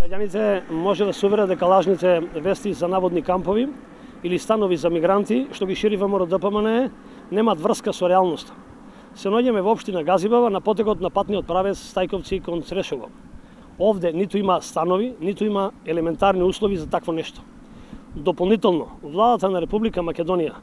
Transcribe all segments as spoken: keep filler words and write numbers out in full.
Граѓаните може да се уверат дека лажните вести за наводни кампови или станови за мигранти, што ги шири ВМРО-ДПМНЕ, немаат врска со реалноста. Се наоѓаме во општина Газибаба на потекот на патниот правец Стајковци кон Црешово. Овде ниту има станови, ниту има елементарни услови за такво нешто. Дополнително, владата на Република Македонија,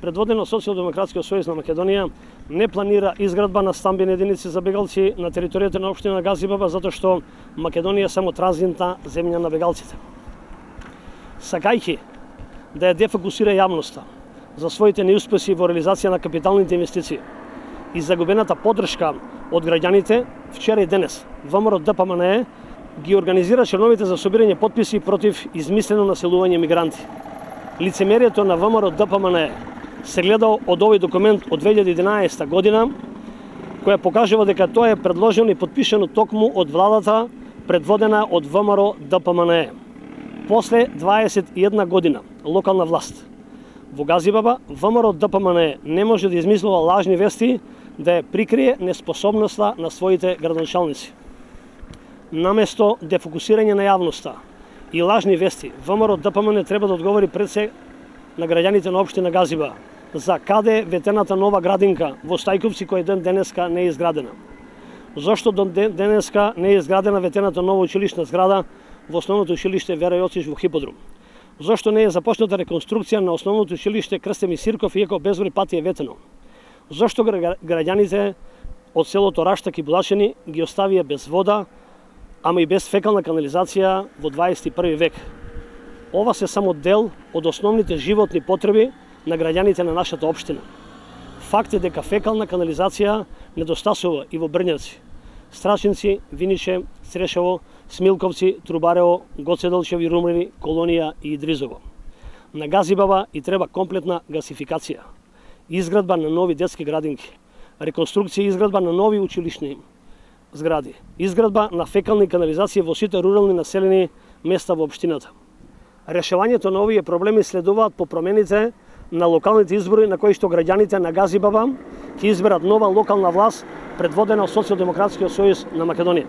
предводена од Социјалдемократскиот сојуз на Македонија, не планира изградба на стамбени единици за бегалци на територијата на општина Газибаба, затоа што Македонија е само транзитна земја на бегалците. Сакајќи да ја дефокусира јавноста за своите неуспеси во реализација на капиталните инвестиции и загубената поддршка од граѓаните, вчера и денес ВМРО-ДПМНЕ ги организира черновите за собирање потписи против измислено населување мигранти. Лицемерието на ВМРО-ДПМНЕ се гледа од овој документ од две илјади и единаесета година, која покажува дека тоа е предложено и подпишано токму од владата предводена од ВМРО-ДПМНЕ. После дваесет и една година локална власт во Газибаба, ВМРО-ДПМНЕ не може да измислува лажни вести да ја прикрие неспособноста на своите градоначалници. Наместо дефокусирање на јавноста и лажни вести, ВМРО-ДПМНЕ треба да одговори пред се на граѓаните на општина Газиба за каде е ветената нова градинка во Стајковци која ден денеска не е изградена. Зошто до денеска не е изградена ветената нова училишна зграда во основното училиште Вера Јоцич во Хиподрум? Зошто не е започната реконструкција на основното училиште Крстимир Сирков иако безброј пати е ветено? Зошто граѓаните од селото Раштак и Булачени ги оставија без вода, ама и без фекална канализација во дваесет и први век? Ова се само дел од основните животни потреби на граѓаните на нашата општина. Факт е дека фекална канализација недостасува и во Брњаци, Страчинци, Виниче, Црешево, Смилковци, Трубарево, Гоцеделчеви, Румрини, Колонија и Идризово. На Газибаба и треба комплетна гасификација, изградба на нови детски градинки, реконструкција и изградба на нови училишни згради, изградба на фекални канализации во сите рурални населени места во општината. Решавањето на овие проблеми следуваат по промените на локалните избори на кои што граѓаните на Газибаба ќе изберат нова локална власт предводена од Социјалдемократскиот сојуз на Македонија.